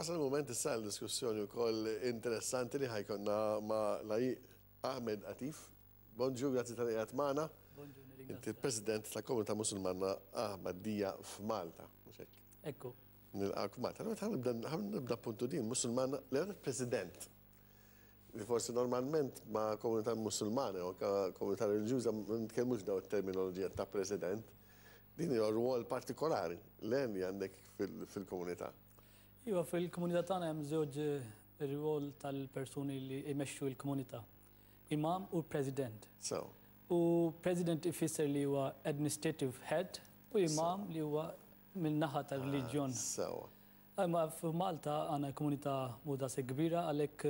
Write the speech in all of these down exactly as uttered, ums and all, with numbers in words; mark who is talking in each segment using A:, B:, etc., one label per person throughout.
A: Wasal il-moment issa l-diskussjoni wkoll interessanti li ħa jkollna ma' Laiq Ahmed Atif. Bonġu, grazzi talli qiegħed magħna. Inti President tal-Komunità Musulmana Ahmadija f'Malta. Mhux hekk?
B: Ekku.
A: Nilqgħek Malta. Ħa nibda puntu din, Musulmana, l President. Li forsi normalment ma' komunità musulmana u komunità reliġjuża ma nitkellmux daw it-terminoloġija ta' president. Din hija rwol partikolari li għandek fil-komunità.
B: Iva, fil-komunità tagħna hemm żewġ rwol tal-persuni li jmexxu l-komunità. Imam u president.
A: So.
B: U president ifisser li huwa administrative head u imam li huwa mill-naħa tal-reliġjon.
A: So.
B: Imma f'Malta għandna komunità mhux daqshekk kbira, għalhekk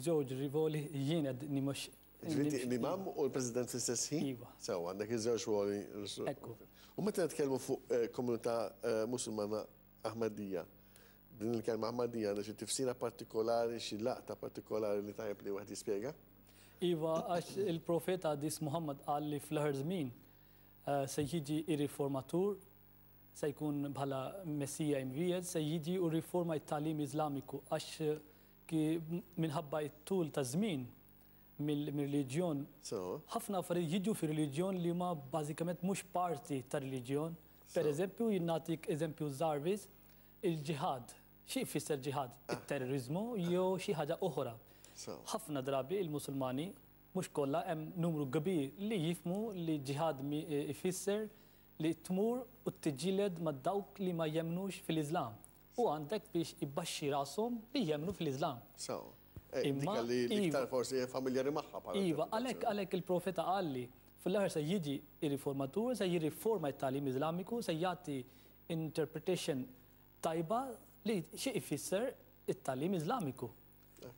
B: żewġ rwoli jien qed nimexxi.
A: Ġifieri l-imam u l-president fl-istess ħin?
B: Iva.
A: Sew, għandek iż-żewġ ruoli.
B: Ekku.
A: U meta nitkellmu fuq eh, komunità eh, Musulmana Ahmadija, din il-kelma Ahmadija għandha xi tifsira partikolari, xi laqta partikolari li tajjeb li wieħed jispjega?
B: Iva, għax il-profeta Qaddis Muhammad qal li fl-aħħar żmien eh, se jiġi ir-riformatur, se jkun bħala Messija imwiegħed, se jiġi u riforma it-tagħlim Iżlamiku, għax ki minħabba it-tul ta' żmien mill-reliġjon,
A: So,
B: ħafna affarijiet jiġu fir-reliġjon li ma bażikament mhux parti tar-reliġjon. Per eżempju, jien nagħtik eżempju żgħir biss, il-ġihad. Xi jfisser ġihad? Il-terrorizmu jew xi ħaġa oħra.
A: So.
B: Ħafna drabi il-Musulmani, mhux kollha, hemm numru kbir li jifhmu li ġihad ifisser li tmur u tiġġieled ma' dawk li ma jemnux fil-Islam. U għandek biex ibbaxxi rashom li jemnu fil-Islam.
A: So. Eh,
B: Imma,
A: Dika li l-iktar
B: iva.
A: forsi familjari magħha bħala
B: Iva, għalhekk għalhekk il-profeta qalli fl-aħħar se jiġi ir-riformatur, se jirriforma it-tagħlim Iżlamiku, se jagħti interpretation tajba li xi ifisser it-tagħlim Iżlamiku.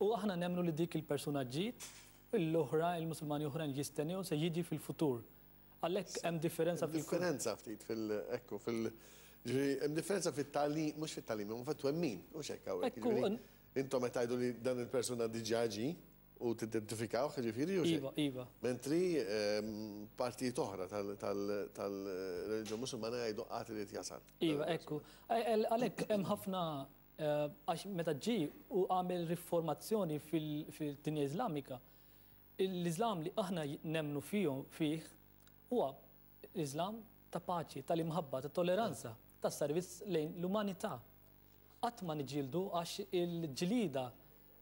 B: U aħna nemmnu li dik il-persuna ġiet, l-oħra, il-Musulmani oħrajn jistennew se jiġi fil-futur. Għalhekk hemm differenza fil
A: Differenza ftit fil- ekku, fil- ġifieri, hemm differenza fit-tagħlim, mhux fit-tagħlim, imma fit-twemmin, mhux hekk hawnhekk.
B: Ekku,
A: Ġifieri,
B: n-
A: intom qed tgħidu li dan il-persuna diġà ġie u tidentifikawh, ġifieri, u
B: Iva, iva.
A: Mentri ehm, partijiet oħra tal-reliġjon Musulmana jgħidu għad irid jasal.
B: Iva, ekku. Għalhekk hemm ħafna eh, għax meta ġi u għamel riformazzjoni fil-dinja Iżlamika, l-Iżlam li aħna nemmnu fihom fih huwa l-Iżlam ta' paċi, tal-imħabba, ta' tolleranza, ta' servizz lejn l-umanità. Qatt ma niġġieldu, għax il-ġlida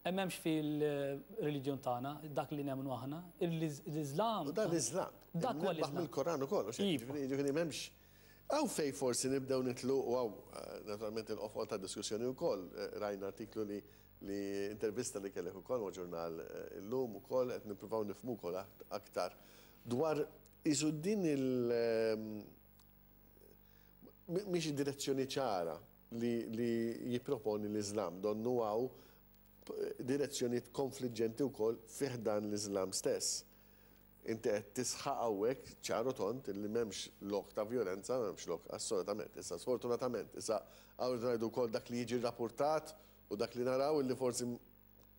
B: m'hemmx fil-reliġjon tagħna, dak li nemmnu aħna, l-Iżlam.
A: U dan l-Iżlam.
B: Dak huwa l-Iżlam.
A: Mill-Koran ukoll,
B: Iva.
A: ġifieri m'hemmx. Hawn fejn forsi nibdew nidħlu, u hawn naturalment il-qofol ta' diskussjoni wkoll, rajna artiklu li li intervista li kellek ukoll ma' ġurnal illum ukoll qed nippruvaw nifhmu wkoll aktar dwar isu din il- mhix direzzjoni ċara li, li jipproponi l-Islam, donnu hawn direzzjoni konfliġġenti wkoll fi ħdan l-Islam stess. Inti qed tisħaq hawnhekk ċaru tond li m'hemmx lok ta' violenza, m'hemmx lok assolutament. Issa sfortunatament, issa hawn ngħidu wkoll dak li jiġi rapportat u dak li naraw illi forsi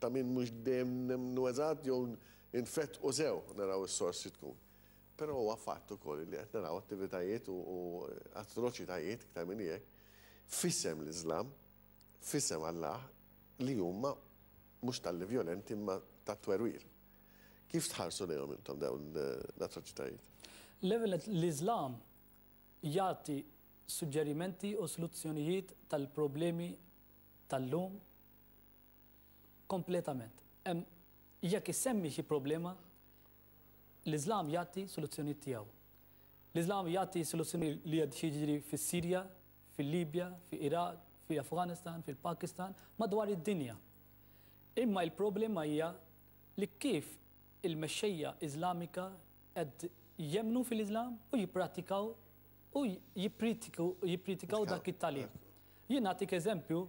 A: ta' min mhux dejjem nemmnu eżatt jew infett u sew naraw is-sors xi tkun. Però huwa fatt ukoll li qed naraw attivitajiet u atroċitajiet iktar minn hekk f'isem l-Islam, f'isem Allah, li huma mhux talli violenti imma ta' twerwir. Kif tħarsu lejhom intom dawn l-atroċitajiet?
B: L-ewwel, l-Islam jagħti suġġerimenti u soluzzjonijiet tal-problemi tal-lum kompletament. Hemm jekk issemmi xi problema, l-Islam jagħti soluzzjonijiet tiegħu. L-Islam jagħti soluzzjoni li qed jiġri fis-Sirja, fil-Libja, fil-Iraq, fil-Afganistan, fil-Pakistan, madwar id-dinja. Imma il-problema hija li kif il-mexxejja Iżlamika qed jemmnu fil-Islam u jippratikaw u jippritikaw dak it-tagħlim. Jien nagħtik eżempju,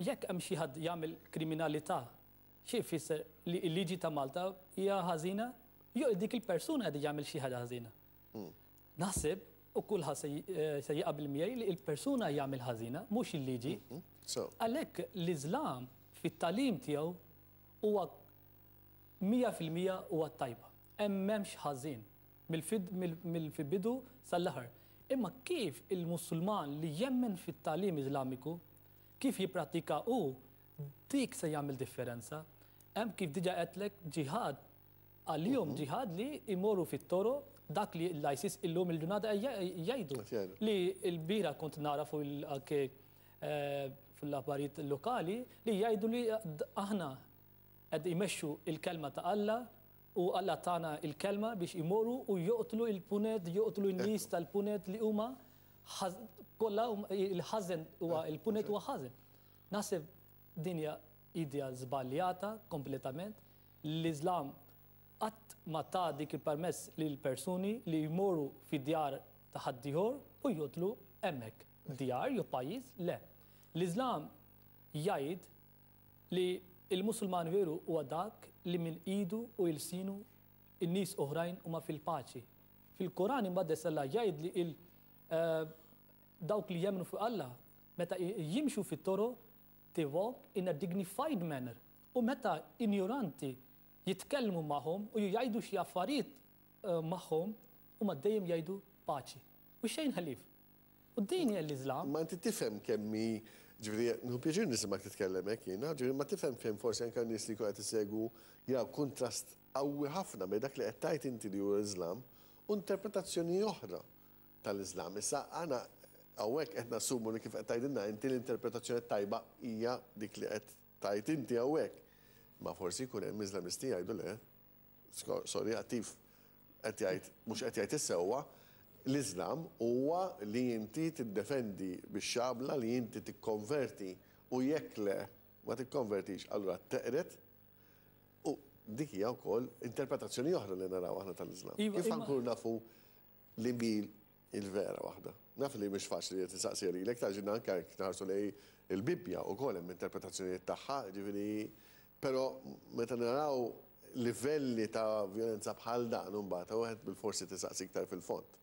B: jekk hemm xi ħadd jagħmel kriminalità, xi jfisser li l-liġi ta' Malta hija ħażina, jew dik il-persuna qed jagħmel xi ħaġa ħażina? Naħseb u kulħadd se jaqbel miegħi li l-persuna jagħmel ħażina, mhux il-liġi. Għalhekk l-Iżlam fit-tagħlim tiegħu huwa mija fil-mija huwa tajba. Hemm m'hemmx ħażin mill-bidu sal-aħħar. Imma kif il-Musulman li jemmen fit-tagħlim Iżlamiku, kif jipprattika hu, Dik se jagħmel differenza. Hemm kif diġà għedtlek ġihad għalihom, ġihad li imorru fit-toroq, dak li l-ISIS illum il-ġurnata jgħidu. Li l-bieraħ kont nara fuq anke fil-aħbarijiet lokali li jgħidu li aħna qed imexxu il-kelma ta' Alla u Alla tana il-kelma biex imorru u joqtlu il-punent, joqtlu n-nies tal-punent li huma kollha il-ħażen, huwa il-punent huwa ħażen. Naħseb din hija idea żbaljata kompletament. L-Islam qatt ma ta dik il-permess lil persuni li jmorru fi djar ta' ħaddieħor u joqtlu hemmhekk. Djar jew pajjiż, le. L-Islam jgħid li il-Musulman veru huwa dak li minn idu u ilsinu in-nies oħrajn huma fil-paċi. Fil-Koran imqaddes Alla jgħid li il dawk li jemmnu fuq Alla meta jimxu fit-toroq, they walk in a dignified manner. U meta ignoranti jitkellmu magħhom u jgħidu xi affarijiet magħhom, huma dejjem jgħidu paċi. U xejn ħalif. U din hija l-Islam.
A: Ma inti tifhem kemm hi, ġifieri, nieħu pjaċir nismak titkellem hekk jiena, ġifieri, ma tifhem kemm forsi anke nies li qed isegwu jaraw kontrast qawwi ħafna bejn dak li qed tgħid inti li huwa l-Islam u interpretazzjoni oħra tal-Islam. Issa għana hawnhekk qed nassumu li kif qed tgħidilna inti l-interpretazzjoni tajba hija dik li qed tgħid inti hawnhekk. Ma forsi jkun hemm Islamisti jgħidu le, sorry, għattif qed jgħid mhux qed jgħid is-sewwa, l-Islam huwa li inti tiddefendi bix-xabla, li inti tikkonverti u jekk le ma tikkonvertix, allura teqret. U dik hija wkoll interpretazzjoni oħra li naraw aħna tal-Islam.
B: Iva,
A: Kif
B: imma
A: ħankunu nafu li mil il-vera waħda? Naf li mhix faċli li tistaqsi lilek, taġina anke jekk nħarsu lej il-Bibbja wkoll hemm interpretazzjonijiet tagħha, ġifieri, però meta naraw livelli ta' violenza bħal dan imbagħad wieħed bil-forsi tistaqsi iktar fil-fond.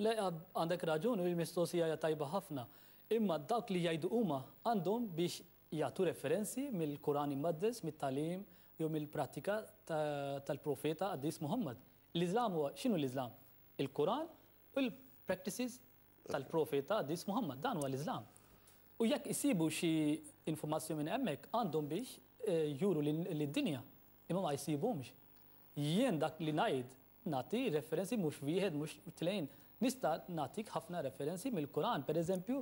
B: Le, għandek raġun, u l-mistoqsija hija tajba ħafna. Imma dawk li jgħidu huma għandhom biex jagħtu referenzi mill-Kuran Imqaddes, mit-tagħlim jew mill-prattika tal-profeta Qaddis Muhammad. L-Islam huwa x'inhu l-Islam? Il-Kuran u l-practices tal-profeta Qaddis Muhammad, dan huwa l-Islam. U jekk isibu xi informazzjoni minn hemmhekk għandhom biex eh, juru lid-dinja, imma ma jsibhomx. Jien dak li ngħid nagħti referenzi mhux wieħed, mhux tnejn. Nista' nagħtik ħafna referenzi mill-Kuran. Per eżempju,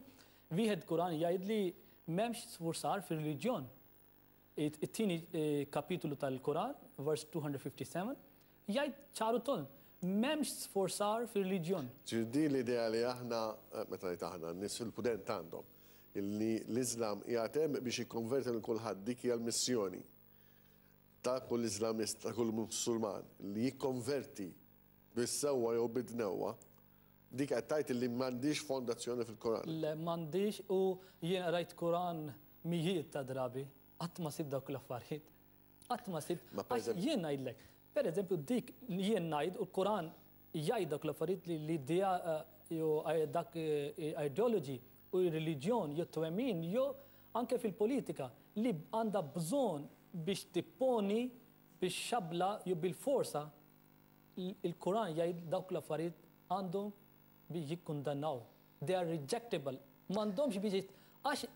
B: wieħed Kuran jgħid li m'hemmx sfurzar fir-reliġjon. It-tieni eh, kapitolu tal-Kuran, verse two hundred fifty-seven, jgħid ċar u tond, m'hemmx sforzar fir-reliġjon.
A: Ġifieri l-idea li aħna, eh, meta ngħid aħna, n-nies fil-punent għandhom, illi l-Islam jgħatem biex jikkonverti lil kulħadd, dik hija l-missjoni ta' kull Islamist, ta' kull Musulman, li jikkonverti bis-sewwa jew bid-dnewwa, dik qed tgħid li m'għandix fondazzjoni fil-Koran.
B: Le, m'għandix, u jien rajt Kuran mijiet ta' drabi, qatt ma sib dawk l-affarijiet. Qatt ma sib.
A: Ma per
B: Għax
A: eżempju-
B: jien ngħidlek, per eżempju dik jien ngħid u l-Kuran jgħid dak l-affarijiet li l-idea eh, jew eh, dak eh, ideology u reliġjon jew twemmin jew anke fil-politika li għandha bżonn biex tipponi biex xabla jew bil-forsa, il-Kuran jgħid dawk l-affarijiet għandhom biex jikkundannaw. They are rejectable. M'għandhomx biex għax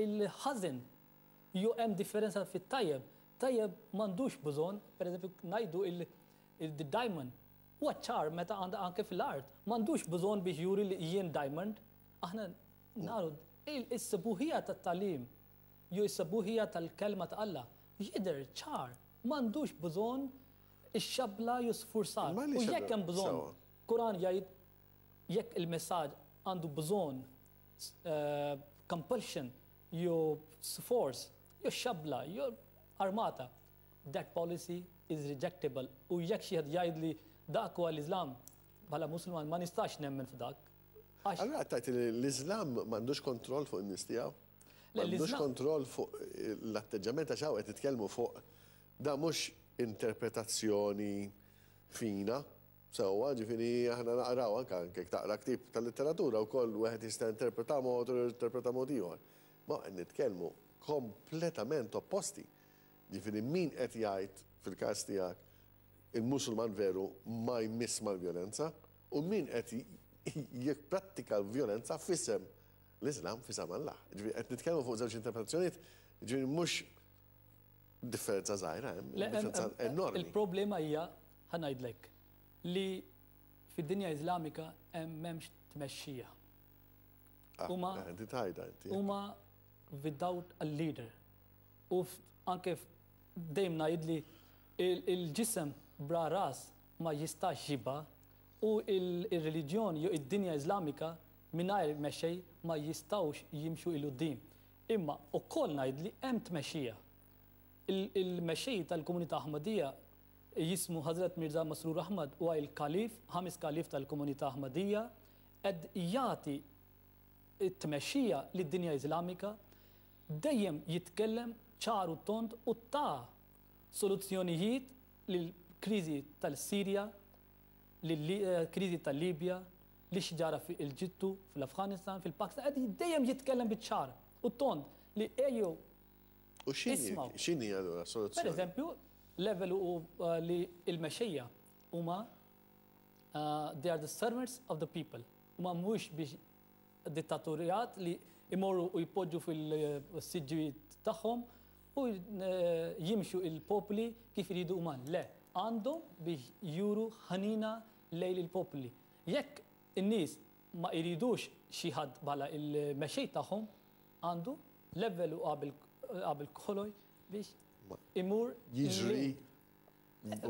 B: il-ħażin jew hemm differenza fit-tajjeb. Tajjeb m'għandux bżonn, per eżempju ngħidu il-diamond. Huwa ċar meta għandha anke fil-art. M'għandux bżonn biex juri li jien diamond. Aħna naru is-sbuħija tat-tagħlim jew is-sbuħija tal-kelma ta' Alla jidher ċar. M'għandux bżonn ix-xabla jew sfurzar.
A: Ma
B: U
A: li
B: jekk hemm bżonn,
A: Sewa.
B: Kuran jgħid jekk il-messaġġ għandu bżonn eh, compulsion jew force jew xabla jew armata, that policy is rejectable. U jekk xi ħadd jgħid li dak huwa l-Islam, bħala Musulman ma nistax nemmen f'dak. Għax
A: Allura qed tgħid li l-Islam m'għandux kontroll fuq in-nies tiegħu?
B: Le,
A: M'għandux
B: l-Islam-
A: kontroll fuq l-atteġġament, għax hawn qed nitkellmu fuq da mhux interpretazzjoni fina. Sewwa, ġifieri aħna naqraw anke anke jekk taqra ktieb tal-letteratura wkoll wieħed jista' interpreta mod u interpreta mod ieħor. Ma qed nitkellmu kompletament opposti. Ġifieri min qed jgħid fil-każ tiegħek il-Musulman veru ma jmiss mal-vjolenza u min qed jipprattika l-vjolenza f'isem l-Islam, f'isem Allah. Ġifieri qed nitkellmu fuq żewġ interpretazzjonijiet. Ġifieri mhux differenza żgħira, hemm differenza enormi.
B: Il-problema hija, ħa ngħidlek, li fid-dinja Iżlamika hemm m'hemmx tmexxija.
A: Ah,
B: Huma
A: Inti tajda inti.
B: Huma without a leader. U anke dejjem ngħid li il-ġisem bla ras ma jistax jibqa' u il-reliġjon jew id-dinja Iżlamika mingħajr mexxej ma jistgħux jimxu 'il quddiem. Imma ukoll ngħid li hemm tmexxija. Il-mexxej tal-komunità Ahmadija jismu Hazrat Mirza Masrur Ahmad, huwa il-kalif, ħames kalif tal-komunità Ahmadija, qed jagħti t-tmexxija lid-dinja Iżlamika, dejjem jitkellem ċar u tond u ta' soluzzjonijiet lill-kriżi tal-Sirja, lill-kriżi tal-Libja, li x'ġara fil-Eġittu, fl-Afganistan, fil-Pakistan, qed dejjem jitkellem biċ-ċar u tond li ejjew
A: U x'inhi
B: ismaw.
A: X'inhi allura
B: Per
A: soluzzjoni?
B: Eżempju, level u uh, li il-mexxejja huma uh, they are the servants of the people. Huma mhux biex dittatorjat li imorru u jpoġġu fil-siġġijiet tagħhom u eh, jimxu il-popli kif iridu huma. Le, għandhom biex juru ħanina lejn il-popli. Jekk in-nies ma jridux xi ħadd bħala il-mexxej tagħhom, għandu level u qabel qabel kollox biex imur
A: Jiġri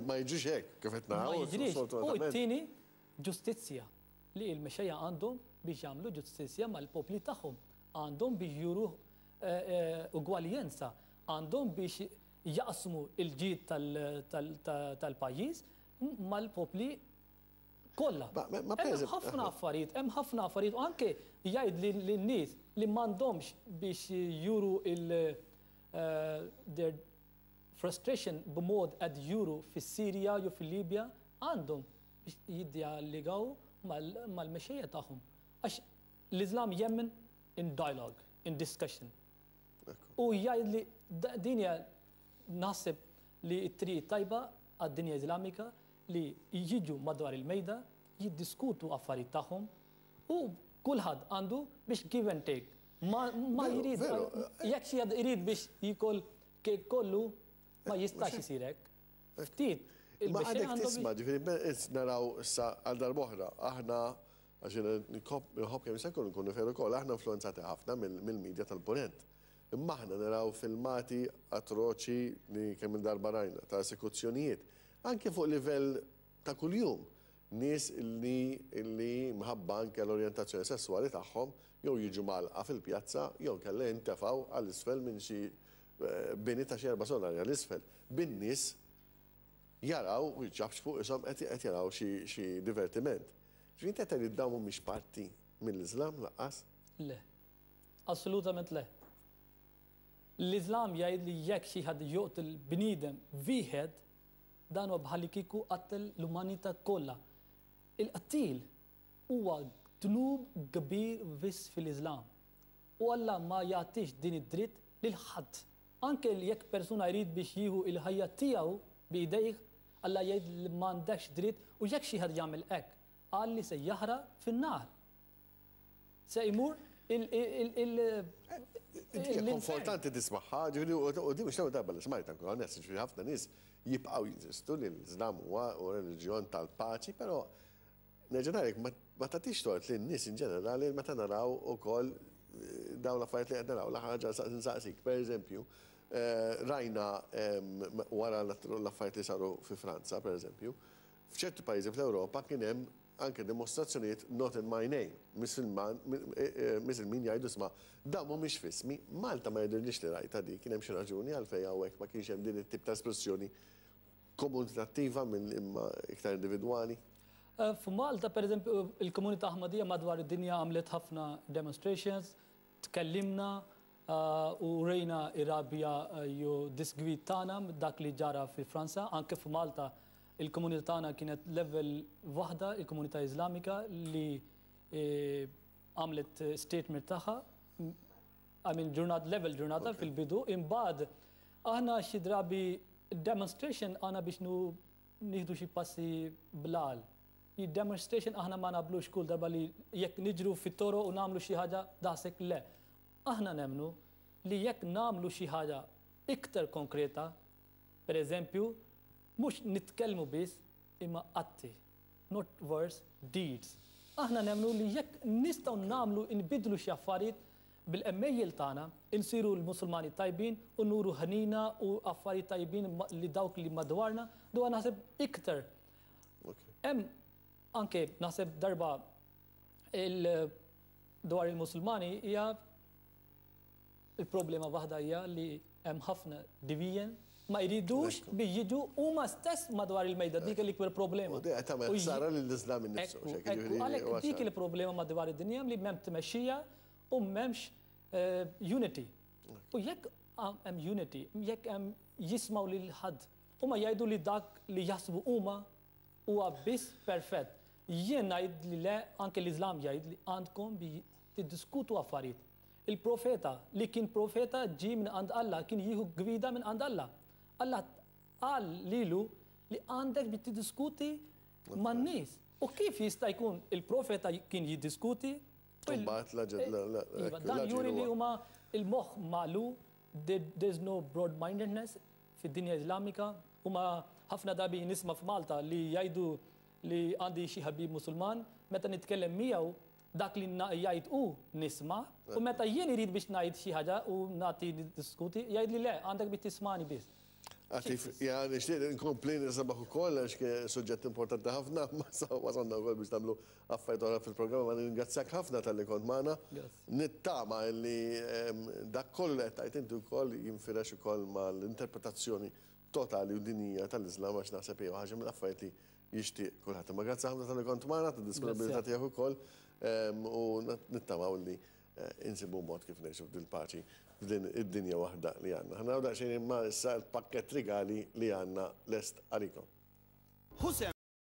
A: ma jiġrix hekk kif qed
B: ma
A: naraw.
B: jiġrix. U
A: Sfortunatament.
B: t-tieni ġustizzja, li il-mexxejja għandhom biex jagħmlu ġustizzja mal-popli tagħhom. Għandhom biex juru eh, eh, ugwaljenza, għandhom biex jaqsmu il-ġid tal- tal- tal- tal-pajjiż mal-popli kollha.
A: Ma- ma- ma per
B: Hemm
A: eżempju-
B: ħafna affarijiet, hemm ħafna affarijiet u anke jgħid lin- lin-nies li m'għandhomx biex juru il eh, their frustration b'mod qed juru fis-Sirja jew fil-Libja, għandhom biex jiddialogaw mal- mal-mexxejja tagħhom. Għax l-Islam jemmen in dialogue, in discussion. U jgħid li da- din hija naħseb li t-triq tajba għad-dinja Iżlamika li jiġu madwar il-mejda, jiddiskutu affarijiet tagħhom u kulħadd għandu biex give and take. Ma, ma
A: Veru,
B: jrid,
A: veru.
B: Jekk xi ħadd irid biex jikol kejk kollu, ma jistax isir hekk. Ftit,
A: Ma
B: il-mexxej
A: għadek
B: għandhom
A: tisma', ġifieri, be- naraw sa għal darb'oħra, aħna, għax nħobb kemm se nkunu fair ukoll, aħna influenzati ħafna mill-medja tal-Punent. Imma aħna naraw filmati atroċi li kemm il-darba rajna ta' esekuzzjonijiet, anke fuq livell ta' kuljum. Nies li li mħabba anke l-orjentazzjoni sessuali tagħhom jew jiġu mgħallqa fil-pjazza jew kella jintefgħu għall-isfel minn xi eh, bini ta' xi erba' solari għall-isfel. Bin-nies jaraw u jċapċpu qishom qed qed jaraw xi xi divertiment. Ġifieri inti qed tgħid dawn mhumiex parti mill-Iżlam lanqas?
B: Le. Assolutament le. L-Islam jgħid li jekk xi ħadd joqtol bniedem wieħed, dan huwa bħalli kieku qattel l-umanità kollha. Il-qtil huwa dnub kbir wisq fil-Islam. U Alla ma jagħtix din id-dritt lil ħadd. Anke jekk persuna jrid biex jieħu il-ħajja tiegħu b'idejh, Alla jgħid li m'għandekx dritt u jekk xi ħadd jagħmel hekk, qal li se jaħraq fin-nar. Se jmur il- il- il-
A: Hija
B: l-infern.
A: konfortanti tismagħha, ġifieri u di mhux l-ewwel darba li smajta, nkun onest, ġifieri ħafna nies jibqgħu jinsistu li l-Iżlam huwa reliġjon tal-paċi, però nerġa' ngħidlek ma ma tagħtix tort lin nies in ġenerali meta naraw ukoll eh, dawn l-affarijiet li qed naraw. L-ħaġa nsaqsik, pereżempju, eh, rajna em, wara l-affarijiet li saru fi Franza, pereżempju, f'ċerti pajjiżi fl-Ewropa kien hemm anke dimostrazzjonijiet "not in my name", Misilman, Misilmin jgħidu, "Isma', dawn mhumiex f'ismi." Malta ma jidhirlix li rajta di, kien hemm xi raġuni għalfejn hawnhekk ma kienx hemm din it-tip ta' espressjoni komunitattiva minn imma iktar individwali?
B: Eh, F'Malta, per eżempju, il-komunità Ahmadija madwar id-dinja għamlet ħafna demonstrations, tkellimna eh, u rejna ir-rabja eh, jew disgwid tagħna dak li ġara fi Franza. Anke f'Malta il-komunità tagħna kienet level waħda, il-komunità Iżlamika li eh, għamlet statement tagħha, I mean, ġurnat level ġurnata fil-bidu, imbagħad aħna xi drabi demonstration għana biex nu nieħdu xi passi blal. Demonstration aħna ma nagħmlux kull darba li jekk niġru fit-toroq u nagħmlu xi ħaġa daqshekk, le. Aħna nemmnu li jekk nagħmlu xi ħaġa iktar konkreta, per eżempju, mhux nitkellmu biss imma atti, not words, deeds. Aħna nemmnu li jekk nistgħu nagħmlu nbidlu xi affarijiet bil-għemejjel tagħna, insiru l-Musulmani tajbin u nuru ħnina u affarijiet tajbin li dawk li madwarna, dwa naħseb iktar. Hemm anke naħseb darba il dwar il-Musulmani hija il-problema waħda hija li hemm ħafna division, ma jridux biex jiġu huma stess madwar il-mejda, dik l-ikbar problema.
A: U di tagħmel ħsara lill-Islam innifsu.
B: Għalhekk dik il-problema madwar id-dinja li m'hemm tmexxija u m'hemmx unity. U jekk hemm unity, jekk hemm jismaw lil ħadd, huma jgħidu li dak li jaħsbu huma huwa biss perfett. Jien ngħid li le, anke l-Islam jgħid li għandkom bi tiddiskutu affarijiet. Il-profeta li kien profeta ġie minn għand Alla, kien jieħu gwida minn għand Alla. Alla qal lilu li għandek bi tiddiskuti man-nies. U kif jista' jkun il-profeta kien jiddiskuti? Dan juri li huma il-moħħ magħluq, there's no broad-mindedness fid-dinja Islamika. Huma ħafna drabi nisma' f'Malta li jgħidu li għandi xi ħabib Musulman, meta nitkellem miegħu dak li jgħid u nisma', u meta jien irid biex ngħid xi ħaġa u nagħti diskuti, jgħid li le, għandek biex tismani biss.
A: Għatif, ja, nixtieq nkompli nisimgħek ukoll għax suġġett importanti ħafna, ma wasalna wkoll biex nagħmlu affarijiet oħra fil-programm, ma ningrazzjak ħafna talli kont magħna. Nittama li dak kollu li qed tgħid inti wkoll jinfirex ukoll mal-interpretazzjoni totali u dinija tal-Islam, għax naħseb hija ħaġa mill-affarijiet li jixtieq kulħadd. Ma grazzi ħafna talli kont magħna, tad-disponibilità tiegħek ukoll, u nittamaw li insibu mod kif ngħixu f'dil-paċi f'din id-dinja waħda li għandna. Ħa naraw daqsxejn imma issa l-pakket rigali li għandna lest għalikom.